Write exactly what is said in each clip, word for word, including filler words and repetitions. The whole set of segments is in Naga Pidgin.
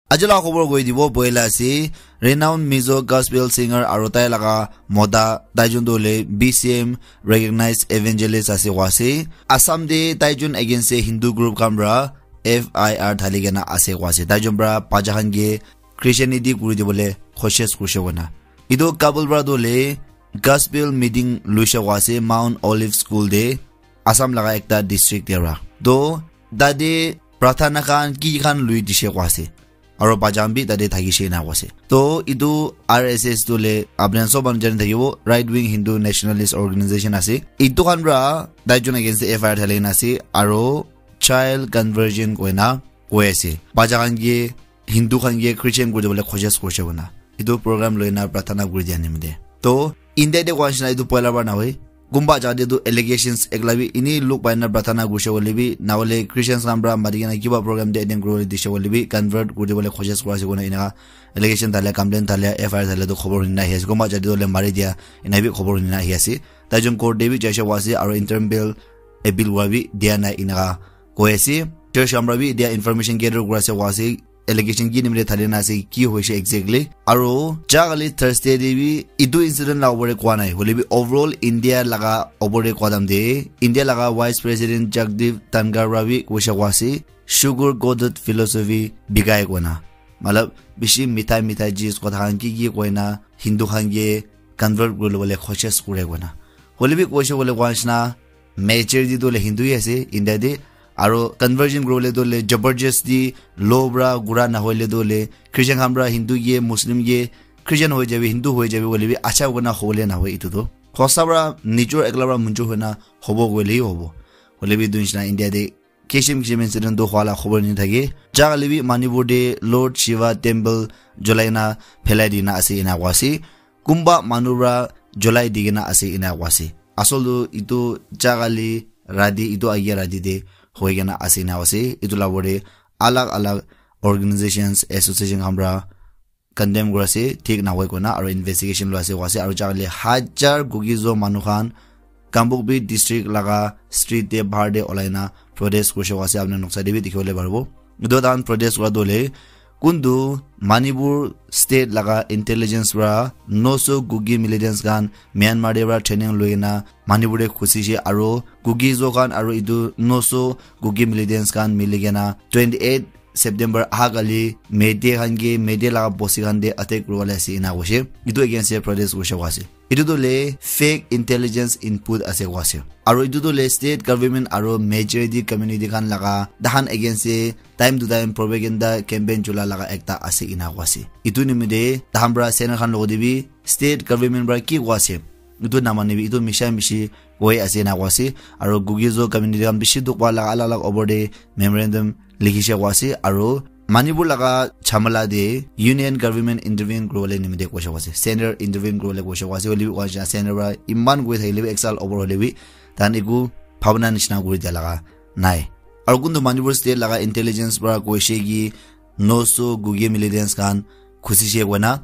Aji laga khobor koi dibo, poila ase, renowned Mizo gospel singer aro tai laga mota, tai jun tu hoile B C M recognized evangelist ase koa ase. Assam te tai jun against te Hindu group khan pra F I R thali kena ase koa ase. Tai jun pra bacha khan ke Christianity kuri dibole koshish kurishe koina. Etu couple pra tu hoile gospel meeting luishe koa ase Mount Olive School te, Assam laga ekta district te pra. To tate prarthana khan ki khan lui dishe koa ase. Aro bacha khan bi tate thakishe ena koa ase. To etu R S S tu hoile apni khan sob manu jani thakibo, right wing Hindu nationalist organization ase. Etu khan pra tai jun against te F I R thali kena ase, aro child conversion koina koi ase. Bacha khan ke Hindu khan ke Christian kuri dibole koshish kurishe koina. Etu program loina prarthana kuri dia nimite. To India te koa nishina etu poila pra nahoi. Kumba jaga te tu allegations ekla bi ini luk pai na prarthana kurishe koile bi, na hoile Christians khan pra mati kena kiba program te attend kuribole dishe koile bi, convert kuri dibole koshish kura ase koina enaka allegation thale, complaint thale, F I R thale tu khobor huni na ahi ase. Kumba jaga te tu hoile mari dia, ena bi khobor huni na ahi ase. Tai jun court te bi jaishe koa ase, aro interim bail appeal kura bi dia nai enaka koi ase. Church khan pra bi etia information gather kura ase koa ase, allegation ki nimite thali na ase, ki hoise exactly. Aro ja kali Thursday te bi etu incident la opor te koa nai, hoile bi overall India laga opor te koa time te India laga Vice President Jagdeep Dhankhar pra bi koishe koa ase, sugar coated philosophy bikai koina. Matlab, bishi mithai mithai cheez kotha khan ki ki koina Hindu khan ke convert kuri lobole koshish kure koina. Hoile bi koishe koile koa nishina majority tu hoile Hindu hi ase India te. Aro conversion kuribole tu hoile jabardasti law pra kura nahoile tu hoile Christian khan pra Hindu ke, Muslim ke, Christian hoi jabi, Hindu hoi jabi koile bi acha koina hobole nahoi etu tu. Hosa pra nijor ekla pra munjur hoina hobo koile hi hobo. Hoile bi etu nishina India te kishim kishim incident tu hua la khobor ni thake. Ja kali bi Manipur te Lord Shiva temple jolai na phelai dina ase ena koa ase. Kumba manu pra jolai di kena ase ena koa ase. Asol tu etu ja kali rati, etu agia rati te hoi kena ase ena koa ase. Etu la opor te alag alag organizations, association khan pra condemn kuri ase, thik nahoi koina, aro investigation loi ase koa ase, aro ja kali hajar Kuki-Zo manu khan Kangpokpi district laga street te bahar te olai na protest kurishe koa ase, apni khan noksa te bi dikhi bole paribo. Etu tahan protest kura tu hoile kuntu Manipur state laga intelligence pra noso Kuki militants khan Myanmar te pra training loi na Manipur te khusishe aro Kuki-Zo khan aro etu noso Kuki militants khan mili kena twenty eight September aha kali Meitei khan ke Meitei laga bosti khan te attack kuribole ase ena koishe. Etu against te protest kurishe koa ase. Etu tu hoile fake intelligence input ase koa ase. Aro etu tu hoile state government aro majority community khan laga tahan against te time to time propaganda campaign chula laga ekta ase ena koa ase. Etu nimite tahan pra center khan logo te bi state government pra ki koa ase, etu namanibi, etu misha mishi koi ase ena koa ase. Aro Kuki-Zo community khan bishi dukh pa laga alag alag opor te memorandum likhishe koa ase. Aro Manipur laga jhamala te union government intervene kuribole nimite koishe koa ase, center intervene kuribole koishe koa ase. Hoile bi koa nishina center pra iman koi thakile bi ek saal opor hoile bi tahan eku bhabna nishina kuri dia laga nai. Aro kuntu Manipur state laga intelligence pra koishe ki noso Kuki militants khan khusishe koina.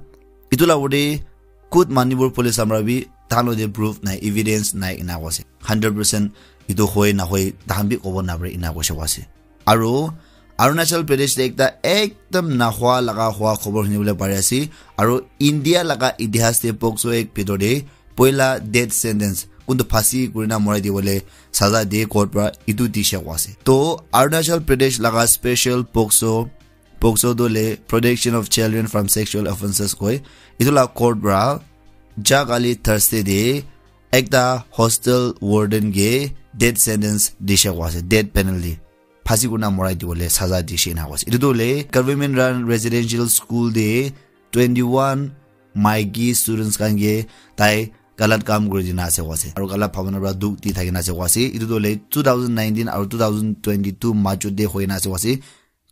Etu la opor te khud Manipur police khan pra bi tahan lo te proof nai, evidence nai ena koa ase. Hundred percent etu hoi nahoi tahan bi kobo napare ena koishe koa ase. Aro Arunachal Pradesh te ekta ekdam nahua laga hua khobor huni bole pari ase. Aro India laga itihas te POCSO Act bitor te poila death sentence, kuntu phasi kurina morai dibole saza diye court pra, etu dishe koa ase. To Arunachal Pradesh laga special POCSO, POCSO tu hoile Protection of Children from Sexual Offences koi. Etu la court pra ja kali Thursday te ekta hostel warden ke death sentence dishe koa ase, death penalty. Phasi kurina morai dibole saza dishe ena koa ase. Etu tu hoile government run residential school te twenty one maiki students khan ke tai galat kam kuri dina ase koa ase. Aro galat bhabona pra dukh di thakina ase koa ase. Etu tu hoile two thousand nineteen aro two thousand twenty-two majot te hoina ase koa ase.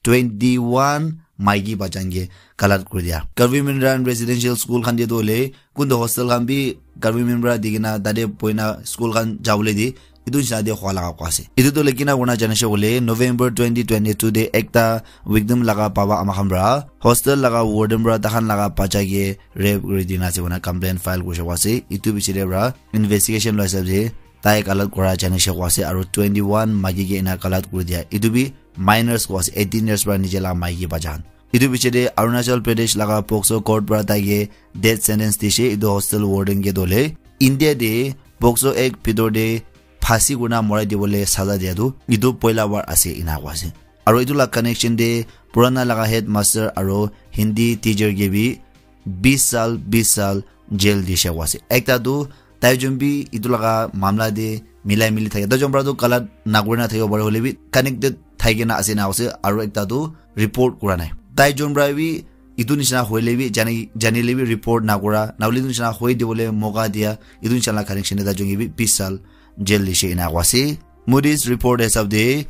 Twenty-one maiki bachan ke galat kuri dia. Government run residential school khan te tu hoile kuntu hostel khan bi government pra di kena tate boina school khan jabole di, etu nishina te hua laga koa ase. Etu tu hoile kina kurina janishe koile November twenty twenty-two te ekta victim laga baba ama khan pra hostel laga warden pra tahan laga bacha ke rape kuri dina ase koina complaint file kurishe koa ase. Etu piche te pra investigation loi hisab se tai galat kura janishe koa ase aro twenty one maiki ke ena galat kuri dia. Etu bi minors koa ase, eighteen years pra niche laga maiki bacha khan. Etu piche te Arunachal Pradesh laga POCSO court para tai ke death sentence dishe, etu hostel warden ke dole. India te POCSO Act bhitor te phasi kurina morai dibole saza dia tu, etu poila bar ase ena koa ase. Aro etu la connection te purana laga headmaster aro Hindi teacher ke bi bis sal, bis sal jail dishe koa ase. Ekta tu tai jun bi etu laga mamla te milai mili thake. Tai jun para tu galat na kurina thakibo pare hoile bi connected thai kena ase na ase. Aro ekta tu report kura nai. Tai jun para bi etu nishina hoile bi jani, janile bi report na kura. Na hoile etu nishina hoi dibole moka dia. Etu nishina la connection te tai jun ke bi bis sal jail dishe ena koa ase. Moody's report hisab te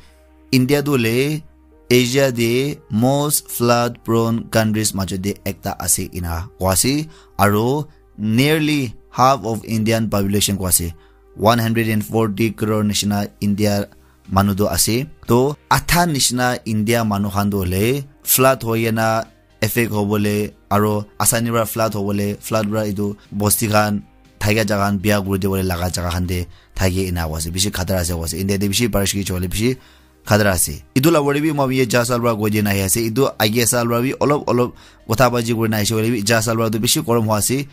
India tu le Asia te most flood prone countries majot te ekta ase ena koa ase, aro nearly half of Indian population koa ase, one hundred and forty crore nishina India manu tu ase. To adha nishina India manu khan tu le flood hoi kena affect hobole aro asani para flood hobole, flood para etu bosti khan thakia jaga khan bia kuri dibole laga jaga khan te thake ena koa ase. Bishi khatara ase koa ase. India te bishi barish ki chole bishi khatara ase. Etu la wari bi moi ye ja sal para koi dina ahi ase. Etu agia sal para bi olop olop kotha baji kuri na aise hoile bi ja sal para tu bishi gorom hua ase.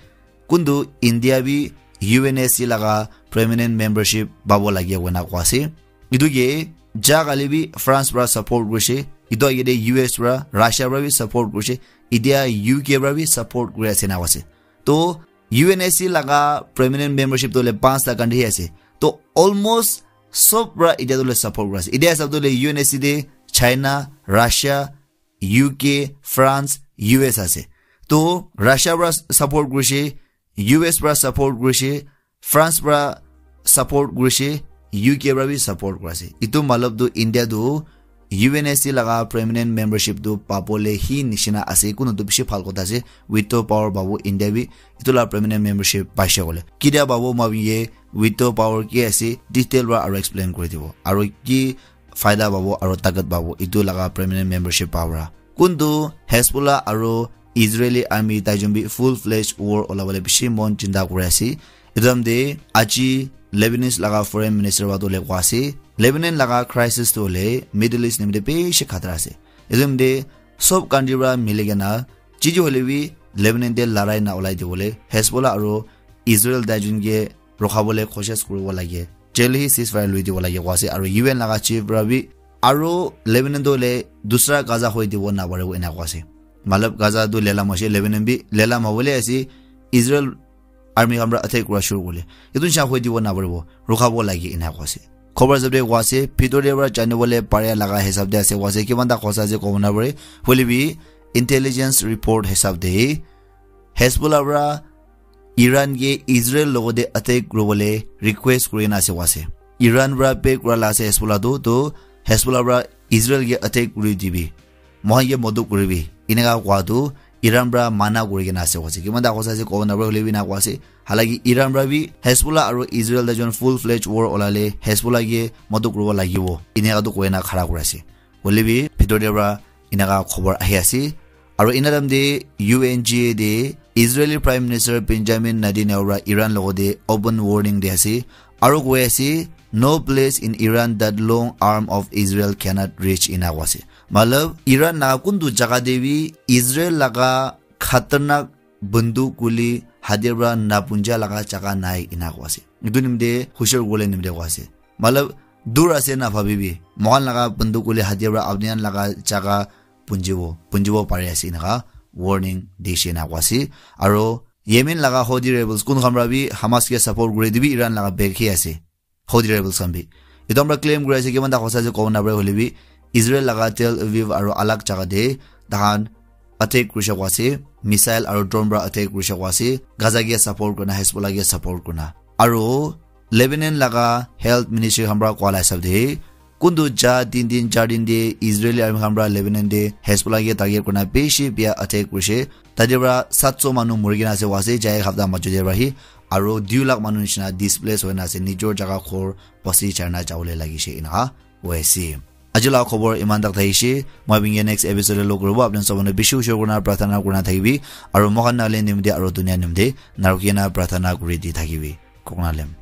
Kuntu India bi U N S C laga permanent membership babo lagi koina koa ase. Etu ke ja kali bi France para support kurishe. Etu age te U S para, Russia para bi support kurishe. India U K para bi support kuri ase na koa ase. To U N S C laga permanent membership tu le panch ta country he ase. To almost sob para India tu le support kura ase. India hisab tu le U N S C te China, Russia, U K, France, U S ase. To Russia para support kurishe, U S para support kurishe, France para support kurishe, U K para bi support kura ase. Etu matlab tu India tu U N S C laga permanent membership tu pabole hi nishina ase, kunu tu bishi bhal kotha ase, veto power pabo India bi, etu la permanent membership paishe kole. Kitia pabo moi ye veto power ki ase, detail para aro explain kuri dibo. Aro ki faida pabo aro takat pabo, etu laga permanent membership power. Kuntu Hezbollah aro Israeli army tai jun bi full fledged war ola bole bishi mon chinta kuri ase. Etu time te aji Lebanese laga foreign minister wa tu le koa ase, Lebanon laga crisis tu le Middle East nimite bishi khatara ase. Etu time te sob country para mili kena jiji hoile bi Lebanon te larai na olai dibole Hezbollah aro Israel tai jun ke rokha bole koshish kuribo lage. Jaldi hi ceasefire lui dibo lage koa ase, aro U N laga chief para bi, aro Lebanon tu le dusra Gaza hoi dibo na paribo ena koa ase. Matlab Gaza tu lelam ase, Lebanon bi lelam hobole ase, Israel army khan para attack kura shuru kurle. Etu nisha hoi dibo na paribo, rokha bo lage ena koa ase. Khobor hisab te koa ase, bhitor te para jani bole pare laga hisab te ase koa ase, kiman ta hosa ase kobo na pare. Hoile bi intelligence report hisab te Hezbollah para Iran ke Israel logote attack kuribole request kuri na ase koa ase. Iran para pay kura la ase Hezbollah tu, to Hezbollah para Israel ke attack kuri dibi, mohan ke modot kuribi, eneka koa tu Iran para mana kuri kena ase koa ase. Kiman ta hosa ase kobo na pare, hoile bi ena koa ase. Halaki Iran para bi Hezbollah aro Israel tai jun full fledged war olale Hezbollah ke modot kuribo lagibo, eneka tu koi na khara kuri ase. Hoile bi bhitor te para eneka khobor ahi ase. Aro ena time te U N G A te Israeli Prime Minister Benjamin Netanyahu para Iran logote open warning di ase. Aro koi ase, "No place in Iran that long arm of Israel cannot reach," ena koa ase. Matlab, Iran laga kuntu jaga te bi Israel laga khatarnak banduk guli hatiyar para na punja laga jaga nai ena koa ase. Etu nimite hushar kuribole nimite koa ase. Matlab, dur ase na bhabibi. Mohan laga banduk guli hatiyar para apni khan laga jaga punjibo, punjibo pari ase eneka warning dishe ena koa ase. Aro Yemen laga Houthi rebels kun khan para bi Hamas ke support kuri dibi Iran laga back hi ase. Houthi rebels khan bi. Etu khan para claim kuri ase, kiman ta hosa ase kobo na pare, hoile bi Israel laga Tel Aviv aro alak jaga te tahan attack kurishe koa ase, missile aro drone para attack kurishe koa ase, Gaza ke support kurina, Hezbollah ke support kurina. Aro Lebanon laga health ministry khan para koa la hisab te, kuntu ja tin din, char din te Israeli army khan para Lebanon te Hezbollah ke target kurina bishi bia attack kurishe. Tate para saat so manu muri kena ase koa ase, jai hapta majot te para hi, aro dui lakh manu nishina displace hoina ase, nijor jaga ghor basi charna jabole lagishe eneka hoi ase. Aji la khobor iman tak thakishe, moi apni ke next episode te log kuribo, apni sob manu bishi ushor kurina prarthana kurina thakibi, aro moikhan Nagaland nimite aro dunia nimite narukina prarthana kuri di thakibi. Koknalem.